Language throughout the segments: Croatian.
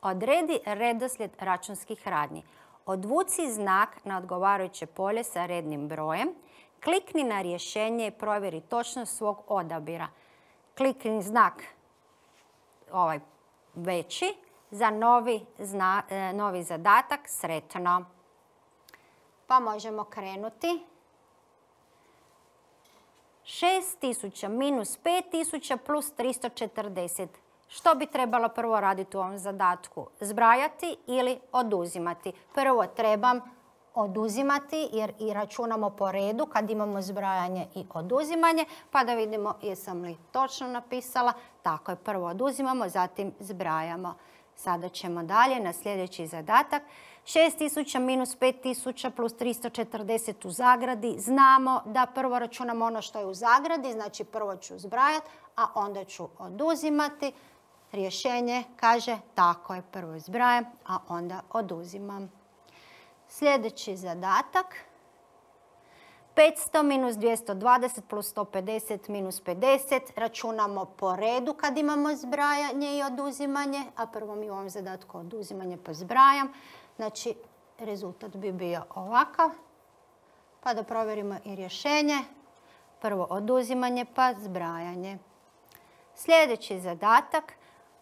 Odredi redoslijed računskih radnji. Odvuci znak na odgovarajuće polje sa rednim brojem. Klikni na rješenje i provjeri točnost svog odabira. Klikni znak ovaj veći za novi zadatak. Sretno! Pa možemo krenuti. 6000 minus 5000 plus 340. Što bi trebalo prvo raditi u ovom zadatku? Zbrajati ili oduzimati? Prvo trebam oduzimati jer i računamo po redu kad imamo zbrajanje i oduzimanje. Pa da vidimo jesam li točno napisala. Tako je, prvo oduzimamo, zatim zbrajamo. Sada ćemo dalje na sljedeći zadatak. 6000 minus 5000 plus 340 u zagradi. Znamo da prvo računamo ono što je u zagradi, znači prvo ću zbrajati, a onda ću oduzimati. Rješenje kaže tako je, prvo zbrajam, a onda oduzimam. Sljedeći zadatak. 500 minus 220 plus 150 minus 50. Računamo po redu kad imamo zbrajanje i oduzimanje, a prvo mi u ovom zadatku oduzimanje pa zbrajam. Znači, rezultat bi bio ovakav. Pa da provjerimo i rješenje. Prvo oduzimanje pa zbrajanje. Sljedeći zadatak.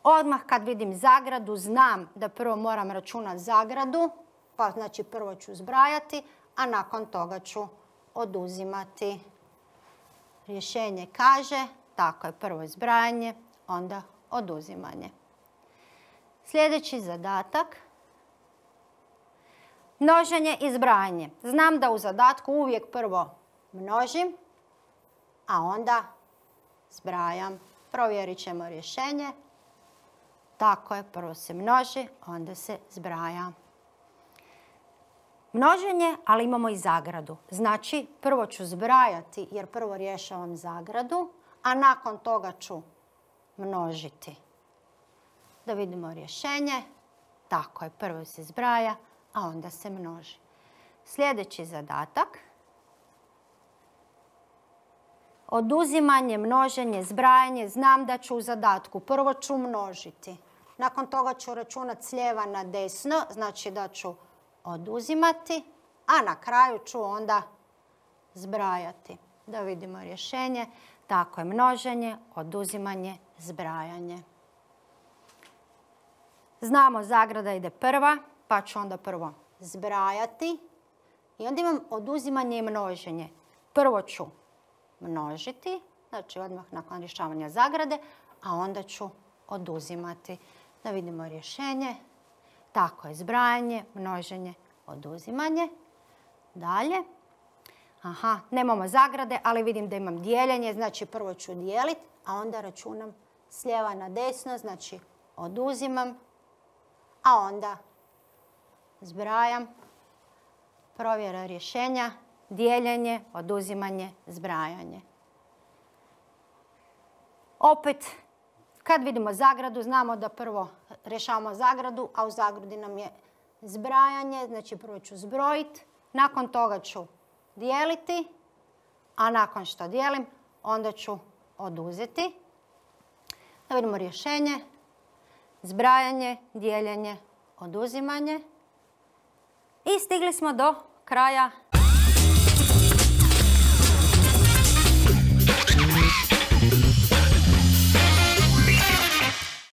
Odmah kad vidim zagradu znam da prvo moram računati zagradu. Pa znači prvo ću zbrajati, a nakon toga ću oduzimati. Rješenje kaže, tako je, prvo zbrajanje, onda oduzimanje. Sljedeći zadatak. Množenje i zbrajanje. Znam da u zadatku uvijek prvo množim, a onda zbrajam. Provjerit ćemo rješenje. Tako je, prvo se množi, onda se zbraja. Množenje, ali imamo i zagradu. Znači, prvo ću zbrajati jer prvo rješavam zagradu, a nakon toga ću množiti. Da vidimo rješenje. Tako je, prvo se zbraja, a onda se množi. Sljedeći zadatak. Oduzimanje, množenje, zbrajanje. Znam da ću u zadatku prvo ću množiti. Nakon toga ću računati s lijeva na desno, znači da ću oduzimati, a na kraju ću onda zbrajati. Da vidimo rješenje. Tako je, množenje, oduzimanje, zbrajanje. Znamo zagrada ide prva, pa ću onda prvo zbrajati. I onda imam oduzimanje i množenje. Prvo ću množiti, znači odmah nakon rješavanja zagrade, a onda ću oduzimati. Da vidimo rješenje. Tako je, zbrajanje, množenje, oduzimanje. Dalje. Aha, nemamo zagrade, ali vidim da imam dijeljenje, znači prvo ću dijeliti, a onda računam s lijeva na desno, znači oduzimam, a onda zbrajam. Provjera rješenja, dijeljenje, oduzimanje, zbrajanje. Opet, kad vidimo zagradu, znamo da prvo rješavamo zagradu, a u zagradi nam je zbrajanje. Znači prvo ću zbrojiti, nakon toga ću dijeliti, a nakon što dijelim, onda ću oduzeti. Da vidimo rješenje. Zbrajanje, dijeljenje, oduzimanje. I stigli smo do kraja